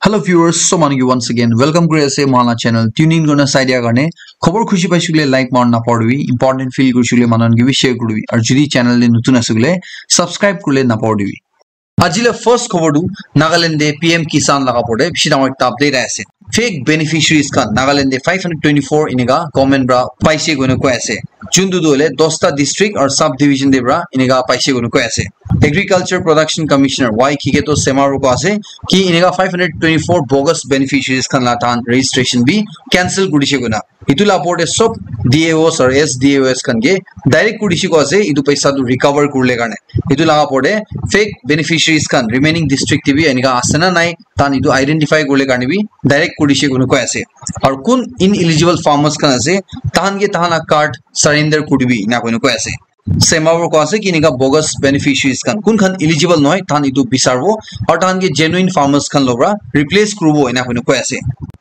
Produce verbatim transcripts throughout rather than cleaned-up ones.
Hello viewers, so manu ki once again welcome kuri ase mohan la channel. Tune in kurna sai dia karne khobor khushi paishe koile like marna napahoribi, important feel kurishe koile manu khan ke bi share kuribi, aru jodi channel te notun ase koile subscribe kurle napahoribi. Aji la first khobor tu Nagaland te P M Kisan laga opor te bishi dangor ekta update ahi ase. Fake beneficiaries khan Nagaland te five hundred twenty-four enika government pra paise koina koi ase. Juntu tu hoile dosta district aru sub division te pra enika paise koina koi ase. Agriculture Production Commissioner Y Kiketo Sema pra koi ase ki enika five hundred twenty-four bogus beneficiaries khan la tahan registration bi cancel kurishe koina. Etu la opor te sob D A Os aru S D A Os khan ke direct kuri dishi koi ase, etu paisa tu recover kurle karne. Etu la opor te fake beneficiaries khan remaining district te bi enika ase na nai, tahan etu identify kurle karne bi direct kuri dishi koina koi ase. Aru kun ineligible farmers khan ase, tahan ke tahan la card surrender kuri dibi, ena koina koi ase. Sema pra koi ase ki enika bogus beneficiaries khan, kun khan eligible nohoi, tahan etu bisarbo, aru tahan ke genuine farmers khan lo pra replace kuribo, ena koina koi ase.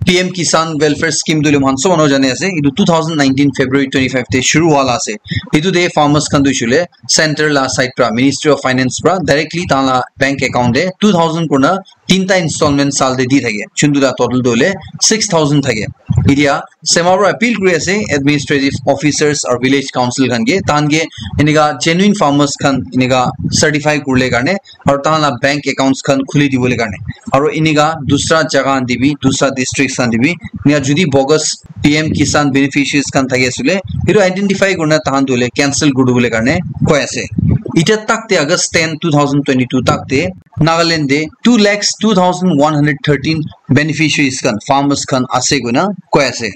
P M Kisan Welfare Scheme tu hoile mohan sob manu jane ase, etu two thousand nineteen February twenty-five te shuru hua la ase. Etu te farmers khan tu hoishe koile center la side pra, Ministry of Finance pra directly tahan la bank account te two thousand kurna tinta installment sal te di thake, juntu la total tu hoile six thousand thake. Etia Sema pra appeal kuri ase administrative officers aru village council khan ke, tahan ke enika genuine farmers khan enika certify kurle karne aru tahan la bank accounts khan khuli dibole karne, aru enika dusra jaga khan te bi, dusra districts khan te bi enika jodi bogus P M Kisan beneficiaries khan thaki ase koile, etu identify kurna tahan tu hoile cancel kuri dibole karne koi ase. Etia tak te August ten, two thousand twenty-two tak te Nagaland te two lakhs two thousand one hundred thirteen beneficiaries khan, farmers khan ase koina koi ase.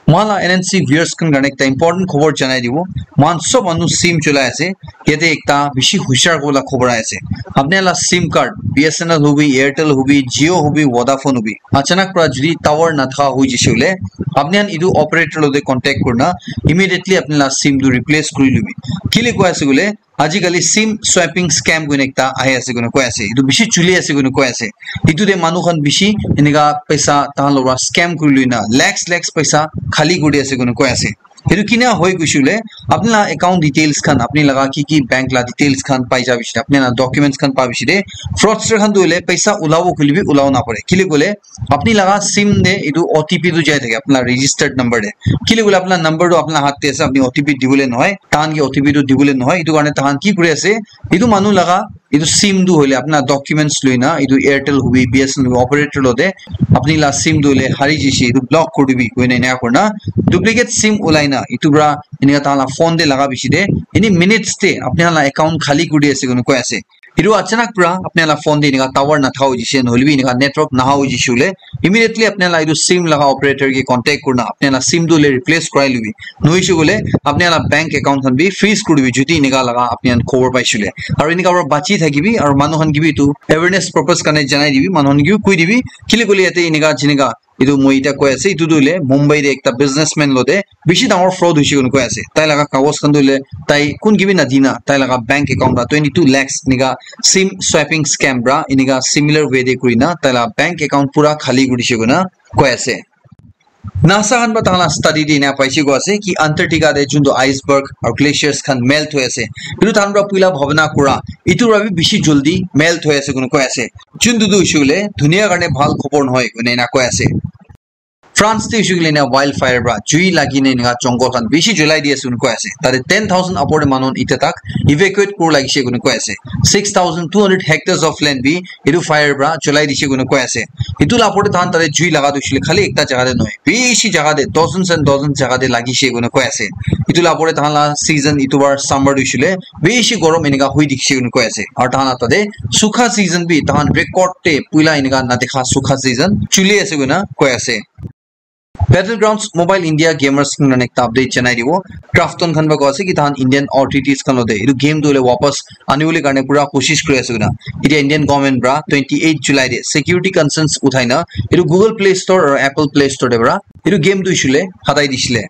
Mohan la N N C viewers khan karne ekta important khobor janai dibo. Mohan sob manu sim cholai ase. Yate ekta bishi hushar kuribole khobor ahi ase. Apni la sim card, B S N L hobi, Airtel hobi, Jio hobi, Vodafone hobi, achanak pra jodi tower nathaka hoi jishe koile, apni khan etu operator logote contact kurina immediately apni la sim tu replace kuri lobi. Kile koi ase koile, ajikali sim swapping scam koina ekta ahi ase koina koi ase. Etu bishi chuli ase koina koi ase. Etu te manu khan bishi enika paisa tahan logot pra scam kuri loina lakhs, lakhs paisa khali kuri ase koina koi ase. Etu kina hoi koishe koile, apni la account details khan, apni laga ki ki bank la details khan pai ja bishi, apni la documents khan pa bishi de, fraudster khan tu hoile paisa ulabo koile bi ulabo napare. Kile koile, apni laga sim te etu O T P tu jai thake, apni la registered number te. Kile koile apni la number tu apni la hath te ase, apni O T P dibole nohoi, tahan ke O T P tu dibole nohoi. Etu karne tahan ki kuri ase, etu manu laga etu sim tu hoile apni la documents loina, etu Airtel hobi, B S N L hobi, operator logote, apni la sim tu hoile hari jishe, etu block kuri dibi koina ena kurina duplicate sim ulai na etu pra enika tahan la phone te laga bishi de, ini minutes te apni la account khali kuri ase koina koi ase. Etu achanak pra apni la phone te enika tower nathaka hoi jishe, nohole bi enika network naha hoi jishe koile, immediately apni la etu sim laga operator ke contact kurina apni la sim tu hoile replace kurai lobi. Nohoishe koile apni la bank account khan bi freeze kuri dibi, jodi enika laga apni khan khobor paishe koile. Aru enika pra bachi thakibi, aru manu khan ke bi etu awareness purpose karne janai dibi, manu khan ke bi koi dibi, kile koile yate enika jinika etu moi eta koi ase, etu tu hoile Mumbai te ekta businessman logote bishi dangor fraud hoishe koina koi ase. Tai laga kagos khan tu hoile tai kun ke bi nadina, tai laga bank account pra twenty two lakhs enika sim swapping scam pra enika similar way te kurina tai laga bank account pura khali kuri dishe koina koi ase. NASA khan pra tahan la study te ena paishe koi ase ki Antarctica te juntu iceberg aru glaciers khan melt hoi ase, etu tahan pra puila bhabana kura, etu pra bi bishi jaldi melt hoi ase koina koi ase. Juntu tu hoishe koile dunia karne bhal khobor nohoi koina ena koi ase. France te hoishe koile ena wildfire pra jui lagi na ena jungle khan bishi julai di ase koina koi ase. Tate ten thousand upor te manu eta tak evacuate kura lagishe koina koi ase. Six thousand two hundred hectares of land bi etu fire pra julai dishe koina koi ase. Etu la opor te tahan tate jui laga tu hoishe koile khali ekta jaga te nohoi, bishi jaga te, dozens and dozens jaga te lagishe koina koi ase. Etu la opor te tahan la season etu bar summer tu hoishe koile bishi gorom enika hoi dikhishe koina koi ase. Aru tahan la tate sukha season bi tahan record te puila enika nadikha sukha season chuli ase koina koi ase. Battlegrounds Mobile India gamers khan karne ekta update janai dibo. Krafton khan pra koi ase ki tahan Indian authorities khan logote etu game tu hoile wapas anibole karne pura koshish kuri ase koina. Etia Indian government pra twenty eight July te security concerns uthai na etu Google Play Store aru Apple Play Store te pra etu game tu hoishe koile hatai dishe koile.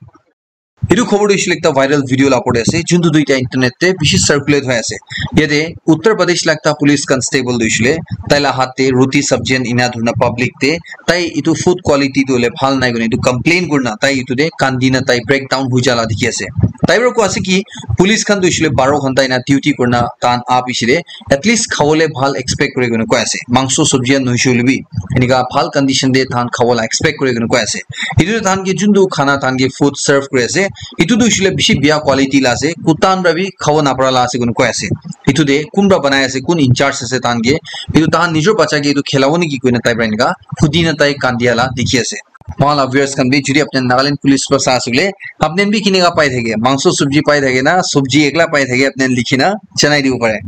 Etu khobor tu hoishe le ekta viral video la opor te ase, juntu tu etiya internet te bishi circulate hoi ase. Yate Uttar Pradesh la ekta police constable tu hoishe le tai la hath te roti sabji khan ena dhurina public te tai etu food quality tu hoile bhal nai koina etu complain kurina tai etu te kandi na tai breakdown hoi jala dikhi ase. Tai para koi ase ki police khan tu hoishe le baro ghanta ena duty kurina tahan ah piche te at least khawole bhal expect kure koina koi ase. Mangso sabji khan nohoishe hoile bi enika bhal condition te tahan khawole expect kure koina koi ase. Etu tahan ke juntu khana tahan ke food serve kuri ase, etu tu hoishe le bishi bia quality la ase, kuta khan para bi khabo napara la ase koina koi ase. Etu te kun para banai ase, kun in charge ase tahan ke, etu tahan nijor bacha ke etu khilabo neki koina tai para enika hudi na tai kandia la dikhi ase. Mohan la viewers khan bi jodi apni Nagaland police para sa ase koile, apni bi kinika pai thake, mangso sabji pai thake na, sabji ekla pai thake, apni likhi na janai dibo pare.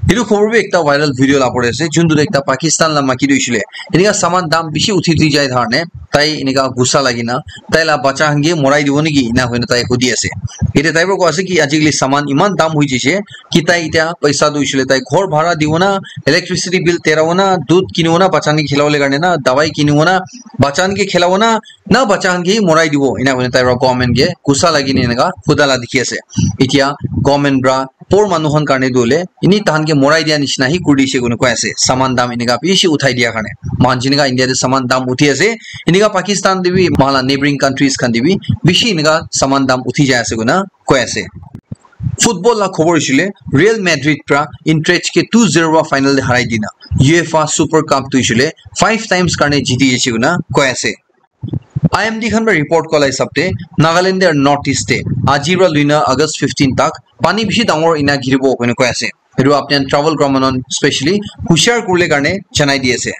Etu khobor bi ekta viral video la opor te ase, juntu tu ekta Pakistan la maiki tu hoishe le enika saman dam bishi uthi uthi jai karne tai enika gussa lagi na tai la bacha khan ke morai dibo neki ena hoina tai hudi ase. Ete tai para koi ase ki ajikali saman eman dam hoi jaise ki tai etiya paisa tu hoishe le tai ghor bhara dibo na, electricity bill terabo na, dudh kinibo na, bacha khan ke khilabole karne na, dawai kinibo na, bacha khan ke khilabo na, na bacha khan ke morai dibo, ena koina tai para government ke gussa lagi na enika huda la dikhi ase. Etiya government para poor manu khan karne tu hoile eni tahan ke morai dia nishina hi kuri dishe koina koi ase. Saman dam enika bishi uthai dia karne, mohan jenika India te saman dam uthi ase, enika Pakistan te bi, mohan la neighboring countries khan te bi bishi enika saman dam uthi jai ase koina koi ase. Football la khobor hoishe le Real Madrid para Eintracht ke two zero para final te harai dina UEFA Super Cup tu hoishe le five times karne jiti jaise koina koi ase. I M D khan para report kora la hisab te Nagaland te aru North East te aji para loina August fifteen tak pani bishi dangor ena giribo koina koi ase. Etu apni khan travel kora manu khan specially hushar kuribole karne janai di ase.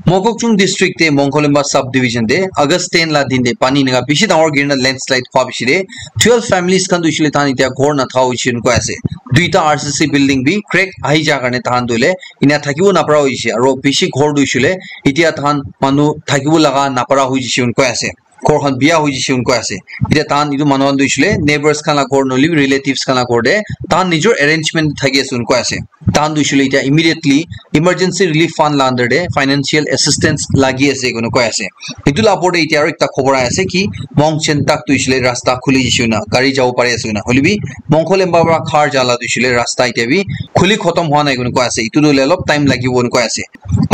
Mokokchung district te Mongkolemba sub division te August ten la din te pani enika bishi dangor girina landslide hua bishi te twelve families khan tu hoishe le tahan etiya ghor nathaka hoishe koina koi ase. Duita R C C building bi crack ahi ja karne tahan tu hoile ena thakibo napara hoishe, aro bishi ghor tu hoishe le etiya tahan manu thakibo laga napara hoi jaise koina koi ase. Ghor khan biya hoi jaise koina koi ase. Etiya tahan etu manu khan tu hoishe le neighbors khan la ghor nohoile bi relatives khan la ghor te tahan nijor arrangement thaki ase koina koi ase. Tahan tu hoishe le etiya immediately emergency relief fund la under te financial assistance lagi ase koina koi ase. Etu la opor te etiya aro ekta khobor ahi ase ki Mongchen tak tu hoishe le rasta khuli jaise koina, gari jabo pari ase koina. Hoile bi Mongkolemba para Khar ja la tu hoishe le rasta etiya bi khuli khotom hua nai koina koi ase. Etu tu hoile olop time lagibo koina koi ase.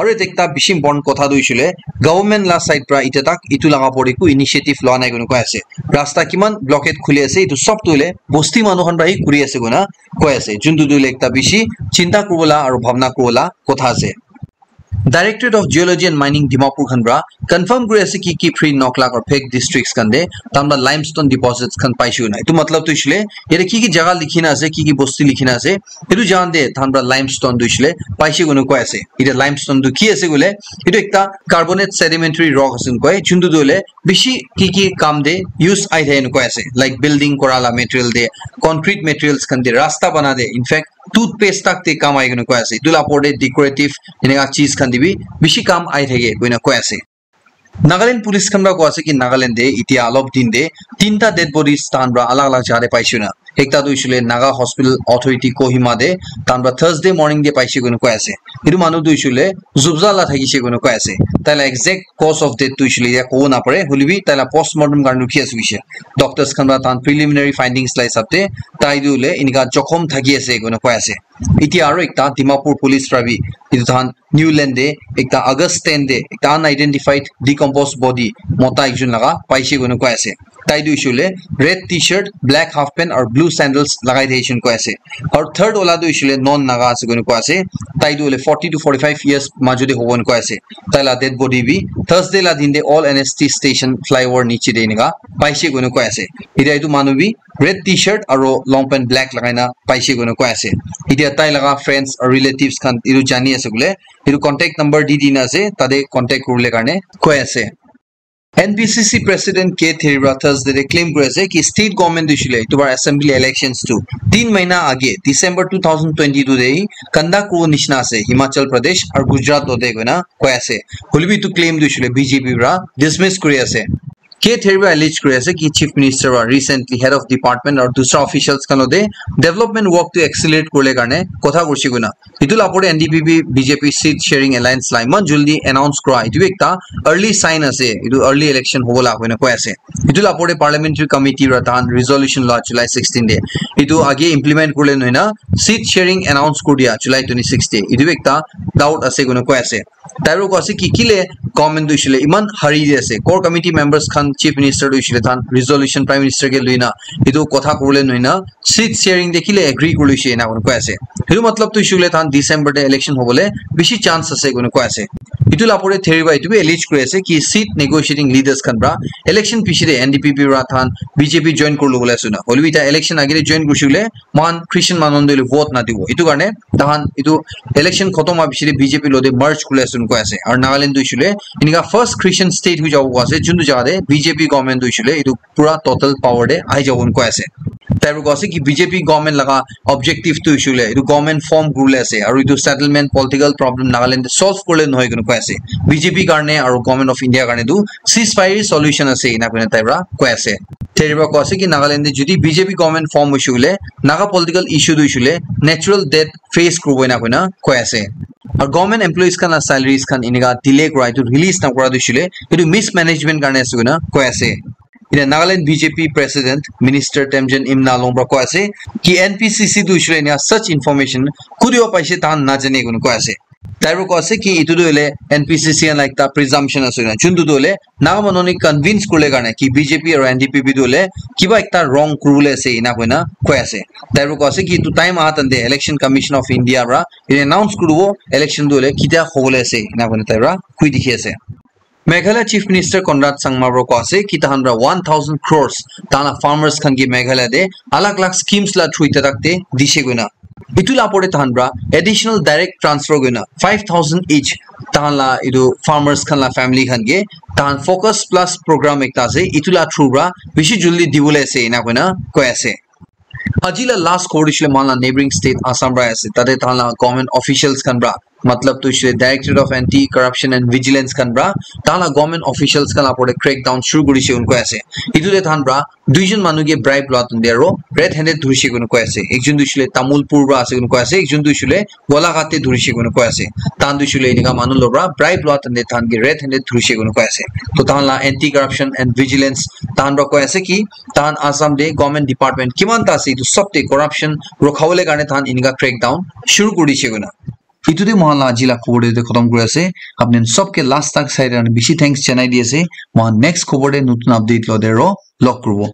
Aro yate ekta bishi important kotha tu hoishe le government la side para etiya tak etu laga opor te eku initiative loa nai koina koi ase. Rasta kiman blockade khuli ase, etu sob tu hoile bosti manu khan para hi kuri ase koina koi ase, juntu tu hoile ekta bishi chinta kuribo la aro bhabna kuribo la kotha ase. Directorate of Geology and Mining Dimapur khan para confirm kuri ase ki ki free nok lak or fake districts khan te tahan para limestone deposits khan paise koina. Etu matlab tu hoishe le yate ki ki jaga likhi na ase, ki ki bosti likhi na ase, etu jaga te tahan para limestone tu hoishe le paise koina koi ase. Etiya limestone tu ki ase koile, etu ekta carbonate sedimentary rock ase koina koi, juntu tu hoile bishi ki ki kam te use ahi thake koina koi ase, like building kora la material te, concrete materials khan te, rasta bana te, in fact toothpaste tak te kam ahi koina koi ase. Etu la opor te decorative enika cheez khan te bi bishi kam ahi thake koina koi ase. Nagaland police khan para koi ase ki Nagaland te etiya olop din te tinta dead bodies tahan para alag alag jaga te paise koina. Ekta tu hoishe le Naga Hospital Authority Kohima te tahan para Thursday morning te paise koina koi ase. Etu manu tu hoishe le Zubza la thakishe koina koi ase. Tai la exact cause of death tu hoishe le etiya kobo napare, hoile bi tai la postmortem karne rukhi ase koishe. Doctors khan para tahan preliminary findings la hisab te tai tu hoile enika jokhom thaki ase koina koi ase. Etiya aro ekta Dimapur police para bi etu tahan Newland te ekta August ten te ekta unidentified decomposed body mota ekjon laga paise koina koi ase. Tai tu hoishe le red T-shirt, black half pant aru blue sandals lagai thakishe koina koi ase. Aru third wala tu hoishe le non Naga ase koina koi ase. Tai tu hoile forty to forty-five years majo te hobo koina koi ase. Tai la dead body bi Thursday la din te Old N S T station flyover niche te enika paise koina koi ase. Etiya etu manu bi red T-shirt aru long pant black lagai na paise koina koi ase. Etiya tai laga friends aru relatives khan etu jani ase koile etu contact number di dina ase, tate contact kuribole karne koi ase. N B C C president K Theri para Thursday te claim kuri ase ki state government tu hoishe le etu bar assembly elections tu tin mahina age December two thousand twenty-two te hi conduct kuribo nishina ase Himachal Pradesh aru Gujarat te koina koi ase. Hoile bi etu claim tu hoishe le B J P para dismiss kuri ase. K Theriba allege kuri ase ki Chief Minister wa recently head of department aru dusra officials khan lote development work to accelerate kurle karne kotha kurse koina. Itu la opor te N D P P B J P seat sharing alliance la iman jaldi announce kura itu bi ekta early sign ase, itu early election hobo la koina koi ase. Itu la opor te parliamentary committee ra tahan resolution la July sixteen te. Itu age implement kurle nohoi na seat sharing announce kuri dia July twenty-six te. Itu bi ekta doubt ase koina koi ase. Tai para koi ase ki kile government tu hoishe le iman hurry te ase. Core committee members khan Chief Minister tu hoishe le tahan resolution Prime Minister ke lui na itu kotha kurle nohoi na seat sharing te kile agree kuri loishe ena koi ase. Itu matlab tu hoishe le tahan December te election hobole bishi chance ase koi ase. Itu la opor te Theriba itu bi allege kuri ase ki seat negotiating leaders khan para election piche te N D P P para tahan B J P join kuri lobole ase na. Hoile bi ita election age te join kurishe koile moikhan Christian manu khan tu vote nadibo. Itu karne tahan itu election khotom howa piche te B J P lote merge kuri ase koi ase. Aru Nagaland tu hoishe le enika first Christian state hoi jabo koi ase, juntu jaga te B J P government tu hoishe le itu pura total power te ahi jabo koi ase. Tai para koi ase ki B J P government laga objective tu hoishe le itu government form kuribole ase aru itu settlement political problem Nagaland te solve kurle nohoi koi ase. B J P karne aru Government of India karne tu ceasefire solution ase ena koina tai para koi ase. Theriba koi ase ki Nagaland te jodi B J P government form hoishe koile Naga political issue tu hoishe koile natural death face kuribo ena koina koi ase. Aru government employees khan la salaries khan enika delay kura itu release na kura tu hoishe koile itu mismanagement karne ase koina koi ase. Ina Nagaland B J P President Minister Temjen Imna Longpra koi ase ki N P C C tu hoishe koile ena such information kutiwa paise tahan najane koina koi ase. Tai para koi ase ki itu tu hoile N P C C khan la ekta presumption ase koina. Juntu tu hoile Naga manu ni convince kurle karne ki B J P aru N D P P tu hoile kiba ekta wrong kuribole ase ena koina koi ase. Tai para koi ase ki itu time aha tante Election Commission of India para announce kuribo election tu hoile kitia hobole ase ena koina tai para koi dikhi ase. Meghalaya Chief Minister Conrad Sangma para koi ase ki tahan para one thousand crores tahan la farmers khan ke Meghalaya te alag alag schemes la through ita tak te dishe koina. Itu la opor te tahan para additional direct transfer koina five thousand each tahan la itu farmers khan la family khan ke tahan Focus Plus program ekta ase, itu la through para bishi jaldi dibole ase ena koina koi ase. Aji la last khobor tu hoishe le moikhan la neighboring state Assam para ase. Tate tahan la government officials khan para, matlab tu hoishe le Directorate of Anti Corruption and Vigilance khan para tahan la government officials khan la opor te crackdown shuru kurishe koina koi ase. Itu te tahan para duijon manu ke bribe lua tante aro red handed dhurishe koina koi ase. Ekjon tu hoishe le Tamulpur para ase koina koi ase, ekjon tu hoishe le Golaghat te dhurishe koina koi ase. Tahan tu hoishe le enika manu logot para bribe lua tante tahan ke red handed dhurishe koina koi ase. To tahan la Anti Corruption and Vigilance tahan para koi ase ki tahan Assam te government department kiman ta ase itu sob te corruption rukhabole karne tahan enika crackdown shuru kuri dishe koina. Itu te moikhan la aji la khobor te khotom kuri ase. Apni khan sob ke last tak sai karne bishi thanks janai di ase. Moikhan next khobor te notun update lote aro log kuribo.